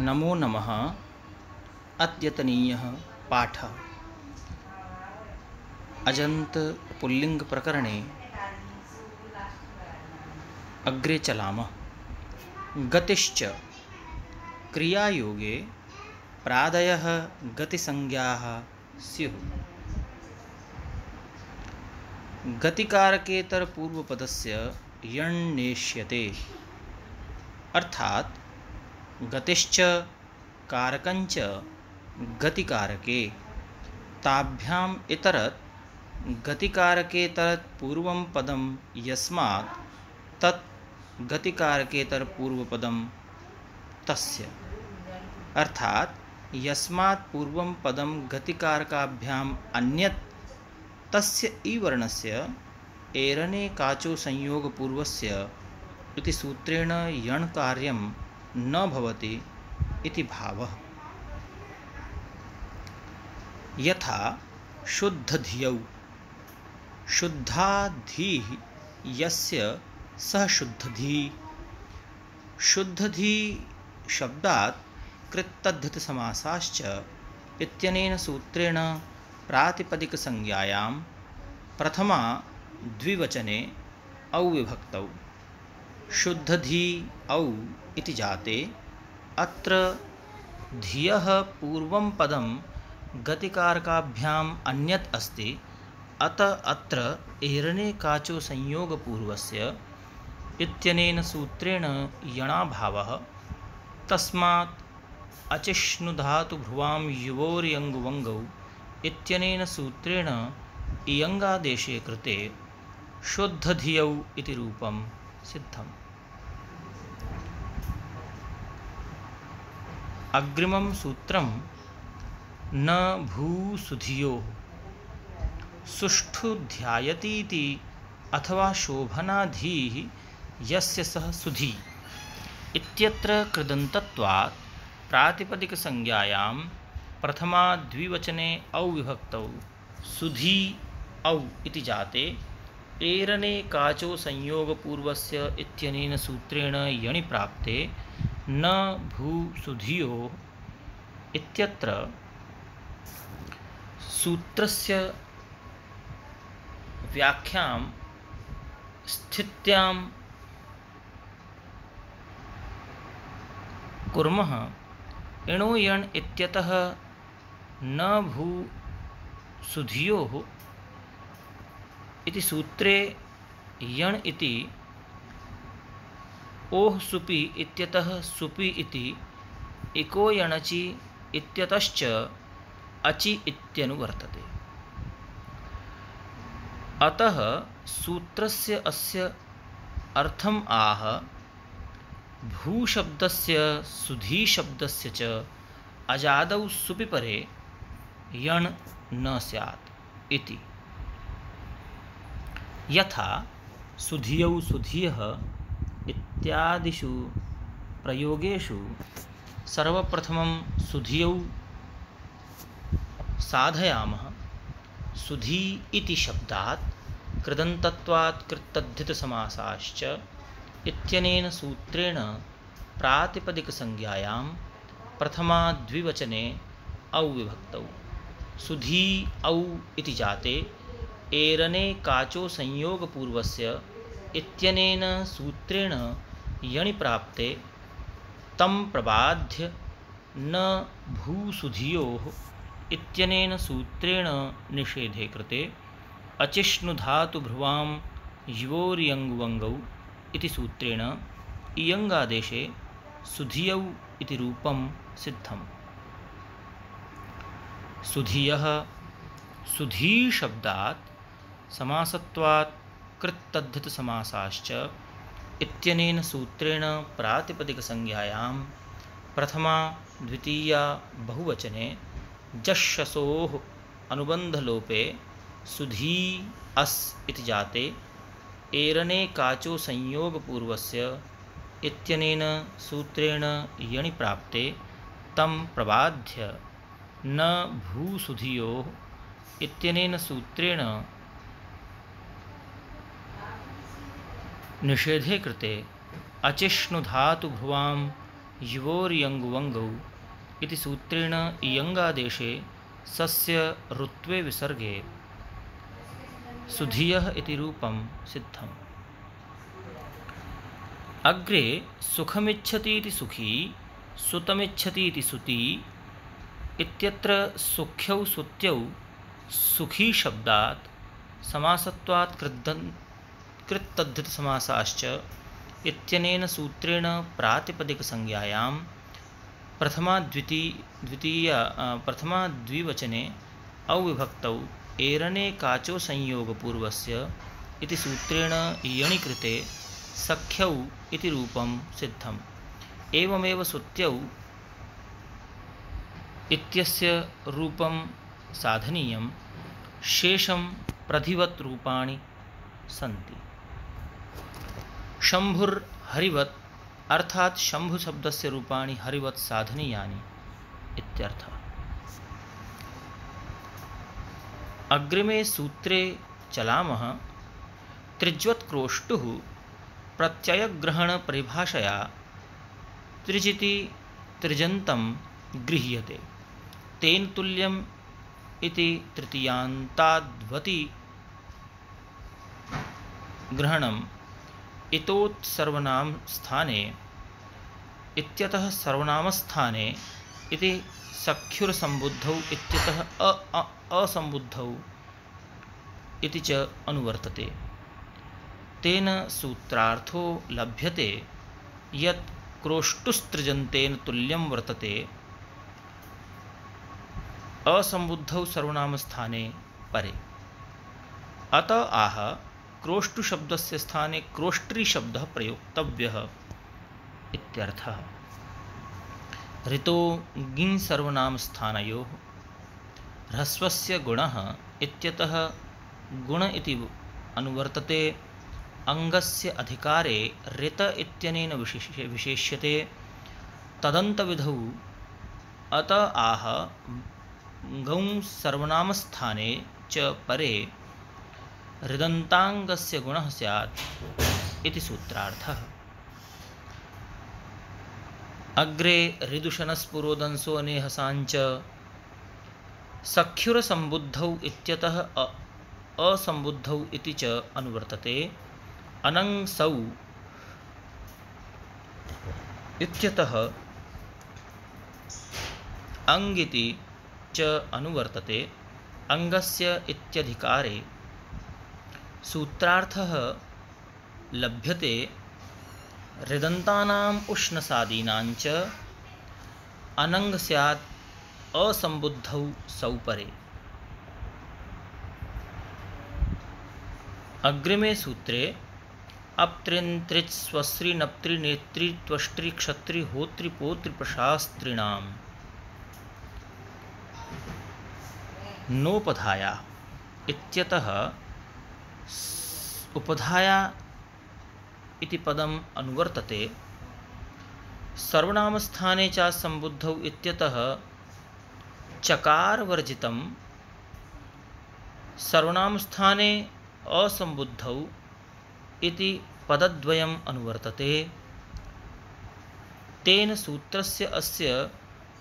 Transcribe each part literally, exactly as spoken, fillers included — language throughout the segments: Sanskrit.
नमो नमः। अद्यतनीयः पाठः अजन्त पुल्लिङ्ग प्रकरणे अग्रे चलामः। गतिश्च क्रियायोगे प्रादयः गतिसंज्ञाः स्युः। गतिकारकेतरपूर्वपदस्य यण् नेष्यते, अर्थात् गतिश्च कारकञ्च गतिकारके ताभ्याम् इतरत् गतिकारकेतरत् पूर्वं पदं यस्मात् तत् गतिकारकेतरपूर्वपदं तस्य, अर्थात् यस्मात् पूर्वं पदं गतिकारकाभ्याम् अन्यत् तस्य ई वर्णस्य एरने काचो संयोगपूर्वस्य इति सूत्रेण यण् कार्यं न भवति इति भावः। यथा शुद्धधियौ, शुद्धा धीः यस्य सः शुद्धधी। शुद्धधी शब्दात् कृत्तद्धितसमासाश्च इत्यनेन सूत्रेण प्रातिपदिकसंज्ञायां प्रथमा द्विवचने औविभक्तौ शुद्धधी औ इति जाते। अत्र धियः पूर्वं पदं गतिकारकाभ्याम् अन्यत् अस्ति, अतः अत्र एरने काचो संयोगपूर्वस्य इत्यनेन सूत्रेण यणाभावः। तस्मात् अचिष्णुधातुभ्रुवां युवोर्यङ्गुवङ्गौ इत्यनेन सूत्रेण इयङ्गादेशे कृते शुद्धधियौ इति रूपं सिद्धम्। अग्रिमं सूत्रं न भूसुधियोः। सुष्ठु ध्यायतीति अथवा शोभनाधीः यस्य सः सुधी इत्यत्र कृदन्तत्वात् प्रातिपदिकसंज्ञायां प्रथमा द्विवचने औविभक्तौ सुधी औ इति जाते। एरने काचो संयोगपूर्वस्य इत्यनेन सूत्रेण यणि प्राप्ते न भूसुधियो इत्यत्र सूत्रस्य व्याख्यां स्थित्यां कुर्मः। इणो यण् इत्यतः न भूसुधियोः इति सूत्रे यण् इति ओः सुपि इत्यतः सुपि इति इको यणचि इत्यतश्च अचि इत्यनुवर्तते। अतः सूत्रस्य अस्य अर्थम् आह भूशब्दस्य सुधीशब्दस्य च अजादौ सुपि परे यण् न स्यात् इति। यथा सुधियौ सुधियः इत्यादिषु प्रयोगेषु सर्वप्रथमं सुधियौ साधयामः। सुधी इति शब्दात् कृदन्तत्वात् कृत्तद्धितसमासाश्च इत्यनेन सूत्रेण प्रातिपदिकसंज्ञायां प्रथमा द्विवचने औविभक्तौ सुधी औ इति जाते। एरने काचो संयोगपूर्वस्य इत्यनेन सूत्रेण यणि प्राप्ते तं प्रबाध्य न भूसुधियोः इत्यनेन सूत्रेण निषेधे कृते अचिष्णुधातुभ्रुवां युवोर्यङ्गुवङ्गौ इति सूत्रेण इयङ्गादेशे सुधियौ इति रूपं सिद्धम्। सुधियः सुधीशब्दात् समासत्वात् कृत्तद्धितसमासाश्च इत्यनेन सूत्रेण प्रातिपदिकसंज्ञायां प्रथमा द्वितीया बहुवचने जश्शसोः अनुबन्धलोपे सुधी अस् इति जाते। एरने काचो संयोगपूर्वस्य इत्यनेन सूत्रेण यणि प्राप्ते तं प्रबाध्य न भूसुधियोः इत्यनेन सूत्रेण निषेधे कृते अचिष्णुधातुभ्रुवां युवोर्यङ्गुवङ्गौ इति सूत्रेण इयङ्गादेशे सस्य ऋत्वे विसर्गे सुधियः इति रूपं सिद्धम्। अग्रे सुखमिच्छति इति सुखी, सुतमिच्छति इति सुती इत्यत्र सुख्यौ सुत्यौ सुखी शब्दात् समासत्वात् कृद्दन् कृत्तद्धितसमासाश्च इत्यनेन सूत्रेण प्रातिपदिकसंज्ञायां प्रथमा द्विती द्वितीया प्रथमा द्विवचने अविभक्तौ एरणे काचो संयोगपूर्वस्य इति सूत्रेण यणिकृते सख्यौ इति रूपं सिद्धम्। एवमेव सुत्यौ इत्यस्य रूपं साधनीयं, शेषं प्रधिवत् रूपाणि सन्ति। शंभुर् हरिवत् अर्थात् शंभु शब्दस्य रूपाणि हरिवत् साधनीयानि इत्यर्थः। अग्रिमे सूत्रे चलामः। त्रिज्वत् क्रोष्टुः प्रत्ययग्रहण परिभाषया त्रिजिति त्रिजन्तं गृह्यते, तेन तुल्यम् इति तृतीयान्ताद्वति ग्रहणम् इतोत् सर्वनाम स्थाने इत्यतः सर्वनामस्थाने इति सख्युरसम्बुद्धौ इत्यतः अ असम्बुद्धौ इति च अनुवर्तते। तेन सूत्रार्थो लभ्यते यत् क्रोष्टुस्त्रिजन्तेन तुल्यं वर्तते असम्बुद्धौ सर्वनामस्थाने परे। अत आह क्रोष्टु शब्दस्य स्थाने क्रोष्ट्री शब्दः प्रयोक्तव्यः इत्यर्थः। ऋतो ङि सर्वनामस्थानयोः ह्रस्वस्य गुणः इत्यतः गुण इति अनुवर्तते। अङ्गस्य अधिकारे ऋत इत्यनेन विशेष्य विशेष्यते तदन्तविधौ। अत आह गौं सर्वनामस्थाने च परे ऋदन्ताङ्गस्य गुणः स्यात् इति सूत्रार्थः। अग्रे ऋदुशनस्पुरोदंसो नेहसाञ्च सख्युरसम्बुद्धौ इत्यतः असम्बुद्धौ इति च अनुवर्तते। अनङ्सौ इत्यतः अङ्गिति च अनुवर्तते। अङ्गस्य इत्यधिकारे सूत्रार्थः लभ्यते ऋदन्तानाम् उष्णसादीनाञ्च अनङ्ग स्यात् असम्बुद्धौ सौ परे। अग्रिमे सूत्रे अप्त्रिन् त्रिच् स्वस्रि नप्त्रि नेत्रि त्वष्ट्रि क्षत्रि होत्रि पोत्रि प्रशास्त्रिणाम् नोपधाया इत्यतः उपधाया इति पदम् अनुवर्तते। सर्वनामस्थाने च सम्बुद्धौ इत्यतः चकारवर्जितं, सर्वनामस्थाने असम्बुद्धौ इति पदद्वयम् अनुवर्तते। तेन सूत्रस्य अस्य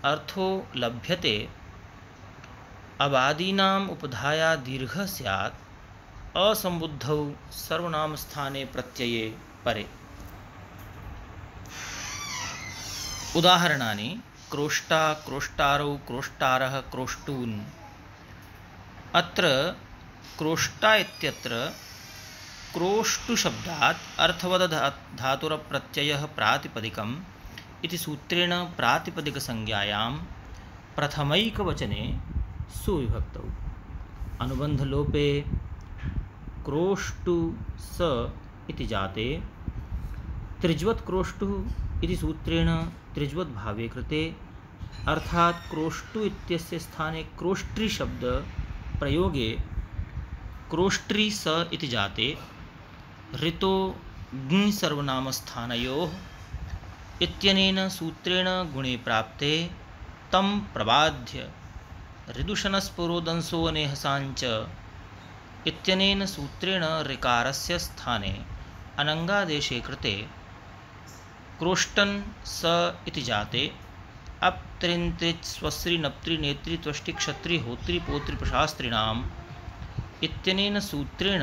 अर्थो लभ्यते अवादीनाम् उपधाया दीर्घः स्यात् असम्बुद्धौ सर्वनामस्थाने प्रत्यये परे। उदाहरणानि क्रोष्टा, क्रोष्टारौ, क्रोष्टारः, क्रोष्टून्। अत्र क्रोष्टा इत्यत्र क्रोष्टुशब्दात् अर्थवद धातुरप्रत्ययः प्रातिपदिकम् इति सूत्रेण प्रातिपदिकसंज्ञायां प्रथमैकवचने सुविभक्तौ अनुबन्धलोपे क्रोष्टु स इति जाते त्रिज्वत् क्रोष्टुः इति सूत्रेण त्रिज्वत् भावे कृते, अर्थात् क्रोष्टु इत्यस्य स्थाने क्रोष्ट्री शब्द प्रयोगे क्रोष्ट्री स इति जाते ऋतो ङि सर्वनामस्थानयोः इत्यनेन सूत्रेण गुणे प्राप्ते तं प्रबाध्य ऋदुशनस्पुरोदंसो नेहसाञ्च इत्यनेन सूत्रेण ऋकारस्य स्थाने अनङ्गादेशे कृते क्रोष्टन स इति जाते अप त्रिन त्रिच स्वस्रि नप्त्रि नेत्रि त्वष्टि क्षत्रि होत्रि पोत्रि प्रशास्त्रिणाम इत्यनेन सूत्रेण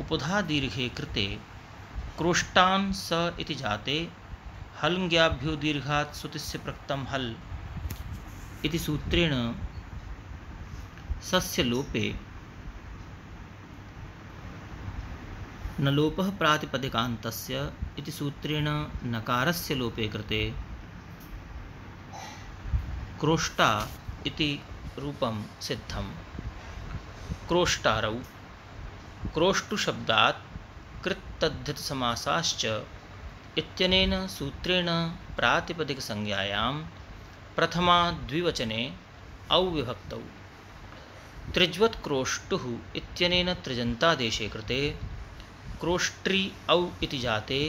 उपधा दीर्घे कृते क्रोष्टान स इति जाते हलङ्ग्याभ्यो दीर्घात् सुतिस्य प्रक्तम हल इति सूत्रेण सस्य लोपे न लोपः प्रातिपदिकान्तस्य इति सूत्रेण नकारस्य लोपे कृते क्रोष्टा इति रूपं सिद्धम्। क्रोष्टारौ क्रोष्टुशब्दात् कृत्तद्धितसमासाश्च इत्यनेन सूत्रेण प्रातिपदिकसंज्ञायां प्रथमा द्विवचने औविभक्तौ त्रिज्वत् क्रोष्टुः इत्यनेन त्रिजन्तादेशे कृते क्रोष्ट्रि औ इति जाते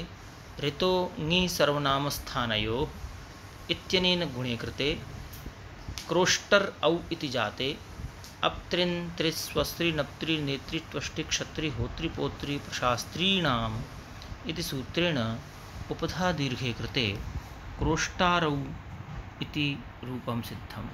ऋतो ङि सर्वनामस्थानयोः इत्यनेन गुणे कृते क्रोष्टर औ इति जाते अप त्रिन त्रिच स्वस्रि नप्त्रि नेत्रि त्वष्टि क्षत्रि होत्रि पोत्रि प्रशास्त्रीणाम इति सूत्रेण उपधा दीर्घे कृते क्रोष्टारौ इति रूपं सिद्धम्।